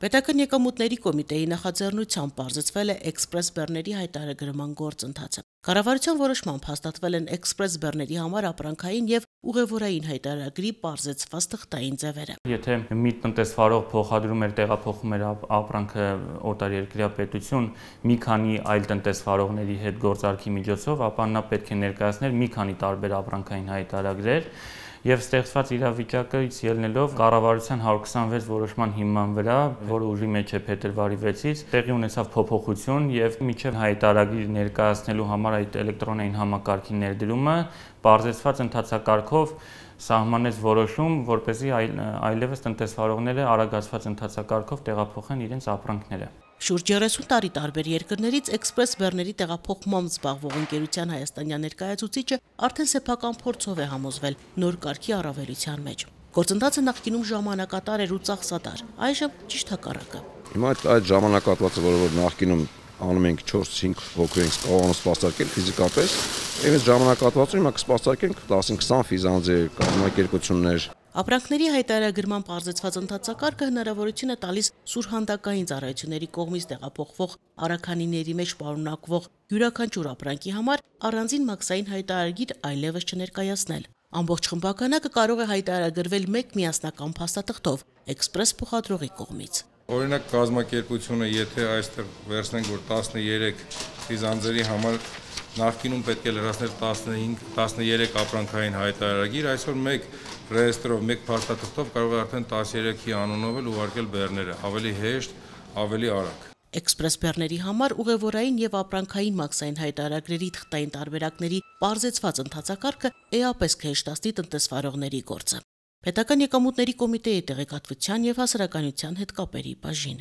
Պետական եկամուտների կոմիտեի նախաձեռնությամբ պարզեցվել է էքսպրես բեռների հայտարարման գործընթացը։ Կառավարության որոշմամբ հաստատվել են էքսպրես բեռների համար ապրանքային եւ ուղևորային հայտարարագրի պարզեցված թղթային ձևերը։ Եթե մի տնտեսվարող փոխադրում էր տեղափոխում էր ապրանքը օտարերկրյա պետություն մի քանի այլ տնտեսվարողների հետ գործարքի միջոցով, ապա նա պետք է ներկայացներ մի քանի տարբեր ապրանքային հայտարարագրեր եւ ստեղծված իրավիճակից ելնելով կառավարության 126 որոշման հիման վրա, որը ուժի մեջ է փետրվարի 6-ից, տեղի ունեցավ փոփոխություն եւ միջև հայտարարագիր ներկայացնելու համար այդ էլեկտրոնային համակարգի ներդրումը պարզեցված ընթացակարգով սահմանեց որոշում, որպեսզի այլևս տնտեսվարողները արագացված ընթացակարգով տեղափոխեն իրենց ապրանքները։ Շուրջ 30 տարի տարբեր երկրներից էքսպրես բեռների տեղափոխմամբ զբաղվող ընկերության հայաստանյան ներկայացուցիչը արդեն սեփական փորձով է համոզվել նոր կարգի առավելության մեջ։ Գործընթացը նախկինում ժամանակատար էր ու ծախսատար, այժմ ճիշտ հակառակը։ Հիմա այդ ժամանակահատվածը, որ նախկինում անում ենք 4-5 հոգու ենք կարողանում սպասարկել ֆիզիկապես, եւ այս ժամանակահատվածում հիմա կսպասարկենք 10-20 ֆիզանձեր, կազմակերպություններ։ Ապրանքների հայտարարագրման պարզեցված ընթացակարգը հնարավորություն է տալիս սուրհանդակային ծառայությունների կողմից տեղափոխվող առաքանիների մեջ պարունակվող յուրաքանչյուր ապրանքի համար առանձին մաքսային հայտարարագիր այլևս չներկայացնել։ Ամբողջ խմբականակը կարող է հայտարարագրվել մեկ միասնական փաստաթղթով էքսպրես փոխադրողի կողմից։ Օրինակ կազմակերպությունը, եթե այստեղ վերցնենք, որ 13 ֆիզանձերի համար նախկինում պետք է լրացներ 13 ապրանքային հայտարարագիր, այսօր մեկ ռեեստրով, մեկ փաստաթղթով կարող է արդեն 13-ի անունով էլ ուղարկել բեռները, ավելի հեշտ, ավելի արագ։ Էքսպրես բեռների համար ուղևորային եւ ապրանքային մաքսային հայտարարագրերի թղթային տարբերակների պարզեցված ընթացակարգը էապես կհեշտացնի տնտեսվարողների գործը։ Պետական եկամուտների կոմիտեի տեղեկատվության եւ հասարակայնության հետ կապերի բաժին։